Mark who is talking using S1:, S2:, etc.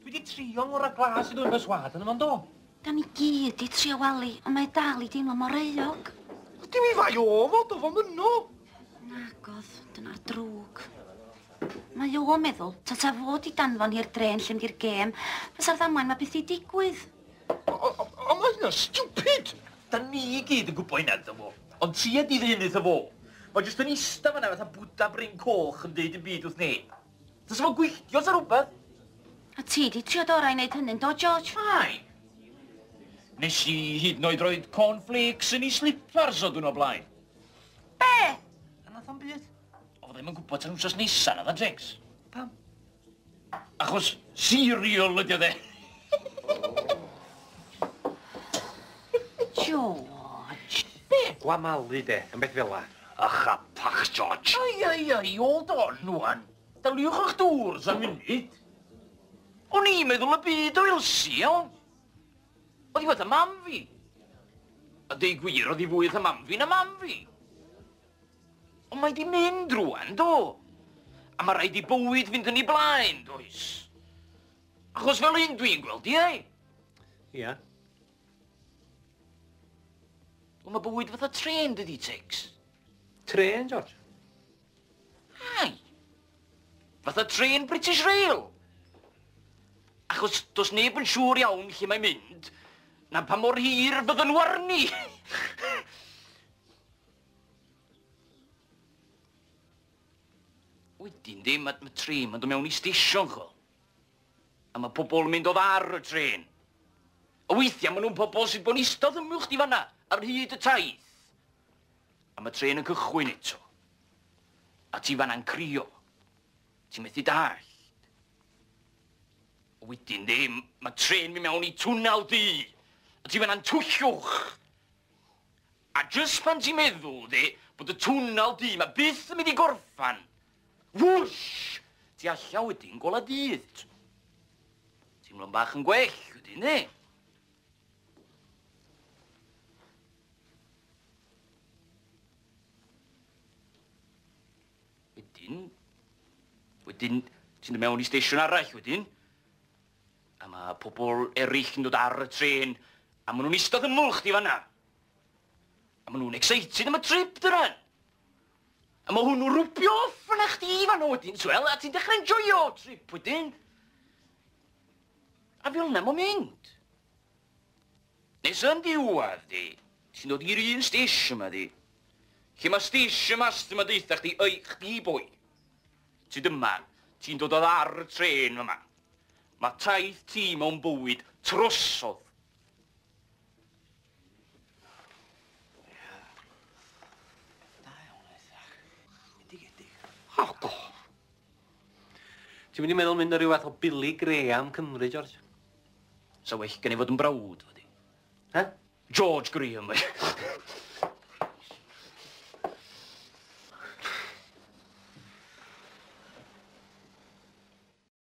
S1: Dwi 'di trio ngora glas i ddwyn berswâd arno fo yndo?
S2: Da ni gyd 'di trio Wali, ond mae dal i deimlo mor euog.
S1: Dim 'i fai o fo, do fo'm yno.
S2: Nagodd, dyna'r drwg. Mae o'n meddwl, tata fo 'di danfon hi'r drên lle mynd i'r gêm, fysa'r ddamwain 'ma byth 'di digwydd.
S1: Ond mae hynna'n stupid!
S3: Da ni i gyd yn gwybod hynna, iddo fo. Ond tia di ddyn iddo fo. Mae jyst yn ista fan'na fatha Bwda Bryn Coch yn deud dim byd wrth neb. Fysa fo'n gwylltio sa rwbeth.
S2: A ti 'di trio dy orau i neud hynny, yndo, George?
S3: Ai. Nes i hyd yn oed roid corn flakes yn ei slipars o dwrnod blaen.
S2: Be?
S1: A nath o'm byd.
S3: O, fydda i'm yn gwybod tan wsos nesa, na dda, Jinx?
S1: Pam?
S3: Achos cereal ydi o de.
S2: George.
S3: Be?
S1: Gwamalu de, yn beth fela.
S3: Ych a pach, George. Ai, ai, ai, hold on, wan. Daliwch o'ch dŵrs am munud. O'n i'n meddwl y byd o Elsie, iawn. Oedd hi fatha mam fi. A deud gwir, oedd hi fwy fatha mam fi na mam fi. Ond mae di mynd rwan, do. A mae rhaid i bywyd fynd yn ei blaen, does? Achos fel un dwi'n gweld i, ei.
S1: Ia.
S3: Wel, mae bywyd fatha trên, dydi, Tex?
S1: Trên, George?
S3: Ai. Fatha trên British Rail. Achos does neb yn siŵr iawn lle mae'n mynd, na pa mor hir fydden nhw arni. Wedyn di, mae ma trên ma'n dod mewn i stesion, ch'wel. A mae pobl yn mynd odd ar y trên. A weithiau maen nhw'n pobl sydd bod yn eistedd ymyl chdi fanna, ar hyd y taith. A mae trên yn cychwyn eto. A ti fanna'n crio. Ti'n methu dallt. Wedyn di, mae trên mi mewn i twnnel du. A ti fanna'n twllwch. A jyst pan ti'n meddwl, di, bod y twnnel du ma byth yn mynd i gorffan. Wwsh! Ti alla wedyn gola dydd. Teimlo'n bach yn gwell wedyn, di? Wedyn, wedyn, ti'n dod mewn i steisiwn arall wedyn. A mae pobl eraill yn dod ar y trên, a maen nhw'n eistedd ymyl chdi fanna. A maen nhw'n excited am y trip dyna. A mae hwnnw'n rwbio off yna chdi fanna wedyn, twel, a ti'n dechrau enjoyo trip wedyn. A fel yna mae'n mynd. Nes yn diwedd, di, ti'n dod i'r un steisiwn yma, di. Lle mae steisiwn master yma deutha chdi, oi, chdi boi. Ti dyma, ti'n dod odd ar y trên yma. Mae taith ti mewn bywyd trosodd.
S1: Da iawn, Isaac. Bendigedig. O, do. Ti'n mynd i meddwl mynd o ryw fath o Billy Graham Cymru, George?
S3: Sa well gen i fod yn brawd, fo di.
S1: He?
S3: George Graham,